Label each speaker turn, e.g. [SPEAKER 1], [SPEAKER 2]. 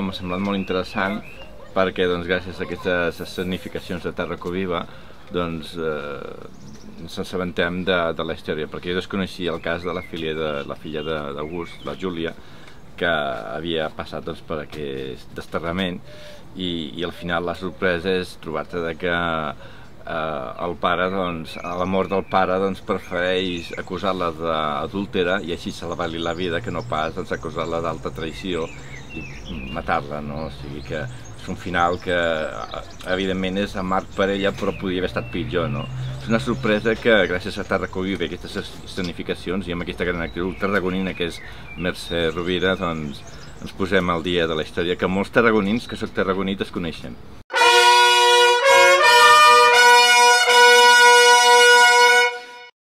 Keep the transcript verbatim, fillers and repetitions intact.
[SPEAKER 1] m'ha semblat molt interessant perquè doncs, gràcies a aquestes escenificacions de Terra Coviva doncs, eh, ens assabentem de, de la història, perquè jo desconeixia el cas de la filla de la filla d'August, la Júlia, que havia passat doncs, per aquest desterrament i, i al final la sorpresa és trobar-te que eh, el pare, doncs, a la mort del pare doncs, prefereix acusar-la d'adúltera i així salvar-li la vida que no pas doncs, acusar-la d'alta traïció i matar-la, no? O sigui que és un final que evidentment és amarg per ella però podria haver estat pitjor, no? És una sorpresa que gràcies a Terra Coviva i aquestes escenificacions i amb aquesta gran actriu tarragonina que és Mercè Rovira doncs ens posem al dia de la història que molts tarragonins que soc tarragoní desconeixen.